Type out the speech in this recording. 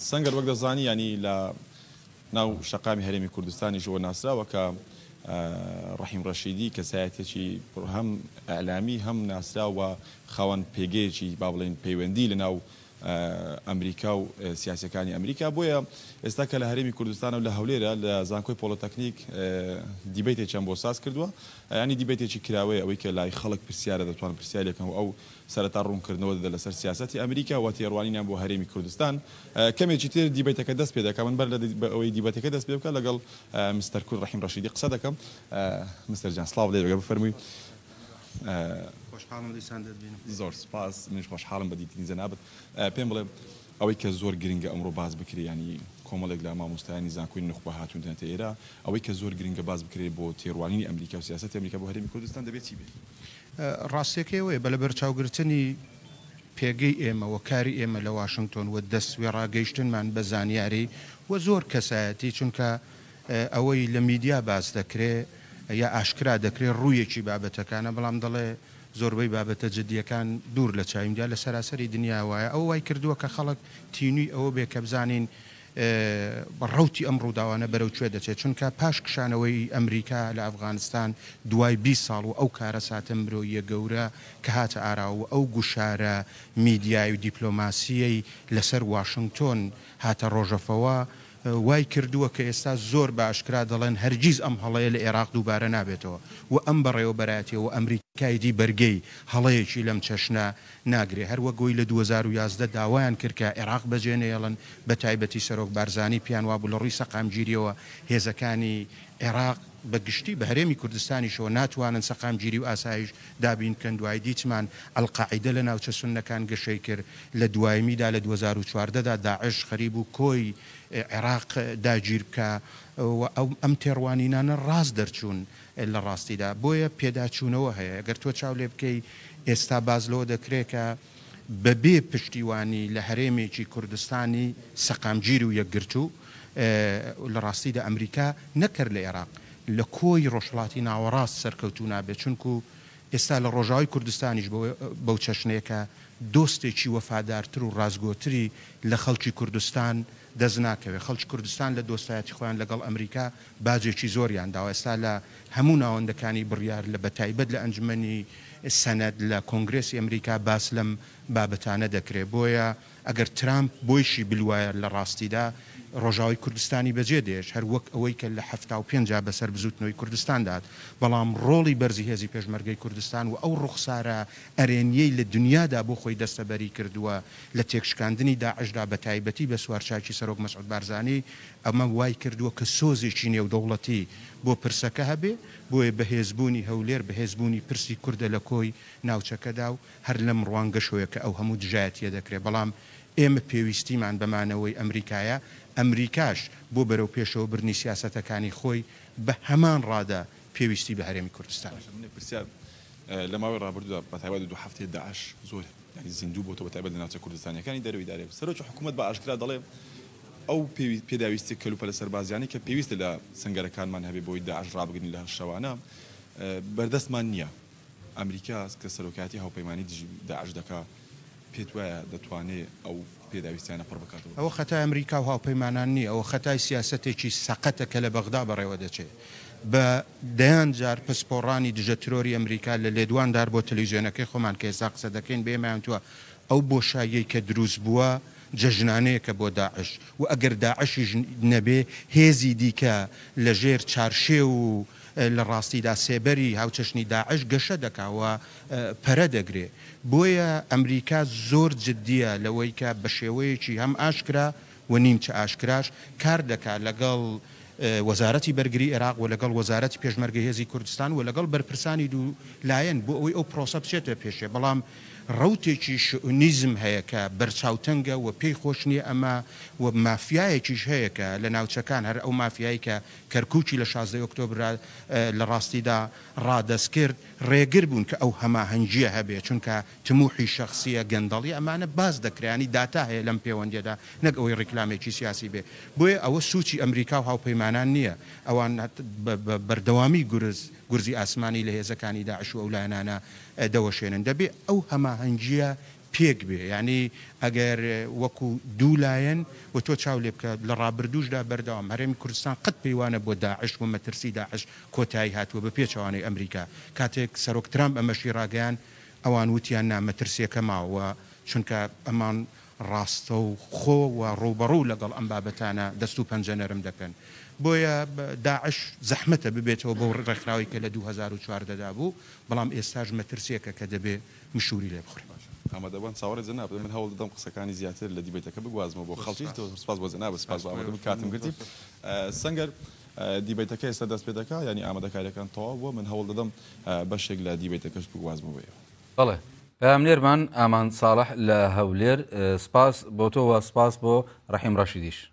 سەنگەر وەک دەزانی یانی لە ناو شەقامی هەرێمی کوردستانیشەوە ناسراوە کە ڕەحیم ڕەشیدی کەسایەتیەکی هەم ئیعلامی هەم ناسراو و خاوەن پێگەیەکی با بڵێین پەیوەندی لە ناو ئەمریکا و سیاسیەکانی ئەمریکا بۆیە ئێستا کە لە هەرێمی کوردستانە و لە هەولێرە لە زانکۆی پۆڵۆتەکنیک دیبەیتێکیان بۆ ساز کردووە یانی دیبەیتێکی کراوەیە ئەوەی کە لای خەڵک پرسیارە دەتوان پرسیاری بکەن و ئەو سەرەتا ڕوونکردنەوە دەدات لەسەر سیاسەتی ئەمریکا و تێڕوانینیان بۆ هەرێمی کوردستان. کەمێکی تر دیبەیتەکە دەست پێ دەکات. من بەر لە ئەوەی دیبەتەکە دەست پێ بکات لەگەڵ مستەر کورد ڕەحیم ڕەشیدی قسە دەکەم. مستەر جان سڵاو لێ بێ بفەرمووی. خۆشحاڵم دیسان دەتبینم. زۆر سوپاس، منیش خۆشحاڵم بە دیتنی جەنابت. پێم بڵێ ئەوەی کە زۆر گرنگە ئەمڕۆ باس بکرێ یانی کۆمەڵێک لە مامۆستایانی زانکۆی نوخبە هاتوونەتە ئێرە، ئەوەی کە زۆر گرنگە باس بکرێ بۆ تێڕوانینی ئەمریکا و سیاسەتی ئەمریکا بۆ هەرێمی کوردستان دەبێ چی بێ؟ ڕاستیەکەی ئەوەیە بە لەبەرچاوگرتنی پێگەی ئێمە و کاری ئێمە لە واشنگتۆن و دەست وێڕاگەیشتنمان بە زانیاری و زۆر کەسایەتی چونکە ئەوەی لە میدیا باس دەکرێ یا ئاشکرا دەکرێ ڕوویەکی بابەتەکانە بەڵام دەڵێ زۆربەی بابەتە جدیەکان دوور لە چاوی میدیا لە سەراسەری دنیا وایە ئەوە وای کردووە کە خەڵک تینووی ئەوە بێ کە بزانین ڕەوتی ئەم ڕووداوانە بەرەو کوێ دەچێت، چونکە پاش کشانەوەی ئەمریکا لە ئەفغانستان دوای 20 ساڵ و ئەو کارەساتە مرۆییە گەورە کە هاتە ئاراوە و ئەو گوشارە میدیایی و دیپلۆماسییەی لەسەر واشنگتۆن هاتە ڕۆژەفەوە وای کردووە کە ئێستا زۆر بە ئاشکرا دەڵێن هەرگیز ئەم هەڵەیە لە ئێراق دووبارە نابێتەوە و ئەم بەڕێوەبەرایەتیە و ئەمریکای دی بەرگەی هەڵەیەکی لەم چەشنە ناگرێ، هەر وەک ئەوەی لە 2011 داوایان کرد کە عێراق بەجێ نەیەڵن، بە تایبەتی سەرۆک بارزانی پێیان وابوو لە ڕووی سەقامگیرییەوە هێزەکانی عێراق بە گشتی بە هەرێمی کوردستانیشەوە ناتوانن سەقامگیری و ئاسایش دابین بکەن، دوایی دیتمان ئەلقاعیدە لە ناوچە سوننەکان گەشەی کرد، لە دوایمیدا لە 2014 دا داعش خەریبوو کۆی عێراق داگیر بکا و ئەم تێڕوانینانە ڕاست دەرچوون. لە ڕاستیدا. بۆیە پێداچوونەوە هەیە. گەر تۆ چاو لێ بکەی ئێستا باس لەوە دەکرێ کە بە بێ پشتیوانی لە هەرێمێکی کوردستانی سەقامگیر و یەکگرتوو لە ڕاستیدا ئەمریکا نەک هەر لە ئێراق لە کۆی ڕۆژهەڵاتی ناوەڕاست سەرکەوتوو نابێت چونکوو ئێستا لە ڕۆژاوای کوردستانیش بەو چەشنەیە کە دۆستێکی وەفادارتر و ڕاستگۆتری لە خەڵکی کوردستان دەست ناکەوێت. خەڵکی کوردستان لە دۆستایەتی خۆیان لەگەڵ ئەمریکا باجێکی زۆریان داوە. ئێستا لە هەموو ناوەندەکانی بڕیار لە بەتایبەت لە ئەنجومەنی سەنەت لە کۆنگرێسی ئەمریکا باس لەم بابەتانە دەکرێت. بۆیە ئەگەر ترامپ بۆیشی بلوایە لە ڕاستیدا ڕۆژاوای کوردستانی بەجێ دێشت هەر وەک ئەوەی کە لە 75 دا بەسەر بزووتنەوەی کوردستان دات. بەڵام ڕۆڵی بەرزی هێزی پێشمەرگەی کوردستان و ئەو ڕوخسارە ئەرێنییەی لە دنیادا بۆ خۆی دەستەبەری کردووە لە تێکشکاندنی داعشدا بەتایبەتی بە سوارچاکی سەرۆک مەسعود بارزانی، ئەمە وای کردووە کە سۆزێکی نێودەوڵەتی بۆ پرسەکە هەبێ، بۆیە بەهێزبوونی هەولێر بەهێزبوونی پرسی کوردە لە کۆی ناوچەکەدا و هەر لەم ڕوانگەشەوەیە کە ئەو هەموو دژایەتییە دەکرێ، بەڵام ئێمە پێویستیمان بە مانەوەی ئەمریکایە، ئەمریکاش بۆ بەرەوپێشەوە بردنی سیاسەتەکانی خۆی بە هەمان ڕادە پێویستی بە هەرێمی کوردستانە. باشە من یەک پرسیار، لە ماوەی ڕابردوودا بەتایبەت لە دوو هەفتەی داعش زۆر یانی زیندوو بۆتەوە بەتایبەت لە ناوچە کوردستانیەکانی دەرەوەی دارێ سەرۆکی حکوومەت بە ئاشکرا دەڵێ ئەو پێداویستی کەلوپەلە سەربازیانەی کە پێویستە لە سەنگەرەکانمان هەبێ بۆی داعش ڕابگرین لە شەوانە بەردەستمان نییە ئەمریکا کە سەرۆکایەتی هاوپەیمانی دژی داعش دەکا پێت وایە دەتوانێ ئەو پێداویستیانە پڕ بکاتەوە؟ ئەوە خەتای ئەمریکا و هاوپەیمانان نییە، ئەوە خەتای سیاسەتێکی سەقەتە کە لە بەغدا بەڕێوە دەچێ. بە دەیان جار پسپۆڕانی دژە ترۆری ئەمریکا لە لێدواندار بۆ تەلەویزیۆنەکەی خۆمان کە ئێستا قسە دەکەین بە ئێمەیان وتووە ئەو بۆشاییەی کە دروست بووە جەژنانەیەکە بۆ داعش و ئەگەر داعشیش نەبێ هێزی دیکە لە ژێر چارشێو و لە ڕاستیدا سێبەری هاوچەشنی داعش گەشە دەکا و پەرە دەگرێ. بۆیە ئەمریکا زۆر جدییە لەوەی کە بە شێوەیەکی هەم ئاشکرا و نیمچە ئاشکراش کار دەکا لەگەڵ وەزارەتی بەرگری ئێراق و لەگەڵ وەزارەتی پێشمەرگەی هێزی کوردستان و لەگەڵ بەرپرسانی دوو لایەن بۆ ئەوەی ئەو پرۆسە بچێتە پێشێ، بەڵام ڕەوتێکی شئونیزم هەیە کە بەرچاوتەنگە و پێی خۆش نییە ئەمە و مافیایەکیش هەیە کە لە ناوچەکان هەر ئەو مافیایەی کە کەرکوکی لە 16 ئۆکتۆبرا لە ڕاستیدا ڕادەست کرد ڕێگر بوون کە ئەو هەماهەنگییە هەبێ چونکە تموحی شەخسیە، گەندەڵیە، ئەمانە باس دەکرێ یانی داتا هەیە لەم پێوەندیەدا نەک ئەوەی ڕیکلامێکی سیاسی بێ. بۆیە ئەوە سوچی ئەمریکا و هاوپەیمانان نیە، ئەوان بە بەردەوامی گورز گورزی ئاسمانی لە هێزەکانی داعش و ئەو لایەنانە دەوەشێنن. دەبێ ئەو هەماهەنگیە پێک بێ یانی ئەگەر وەکو دوو لایەن و تۆ چاو لێ بکە لە ڕابردووشدا بەردەوام هەرێمی کوردستان قەت پێی وا نەبووە داعش و مەترسی داعش کۆتایی هاتووە بە پێچەوانەی ئەمریکا کاتێک سەرۆک ترامپ ئەمەشی ڕاگەیاند ئەوان وتیان نا مەترسیەکە ماوە چونکە ئەمان ڕاستەوخۆ و ڕووبەڕوو لەگەڵ ئەم بابەتانە دەست و پەنجە نەرم دەکەن. بۆیە داعش زەحمەتە ببێتەوە بەو ڕێکخراوەی کە لە 2014 دا بوو، بەڵام ئێستاش مەترسییەکە کە دەبێ مشووری لێ بخورێ. باشە ئامادەبوان چاوەڕێ جەنابت من هەوڵ دەدەم قسەکانی زیاتر لە دیبەیتەکە بگوازمەوە بۆ خەڵکیش زۆر سپاس بۆ جەنابت سپاس بۆ ئامادەبوون کاتم گرتی سەنگەر دیبەیتەکە ئێستا دەست پێ دەکا یانی ئامادەکاریەکان تەواو بووە من هەوڵ دەدەم بەشێک لە دیبەیتەکەش بگوازمەوە بۆ ئێوە. بەڵێ پەیامنێرمان ئامان ساڵح لە هەولێر سپاس بۆ تۆ و سپاس بۆ ڕەحیم ڕەشیدیش.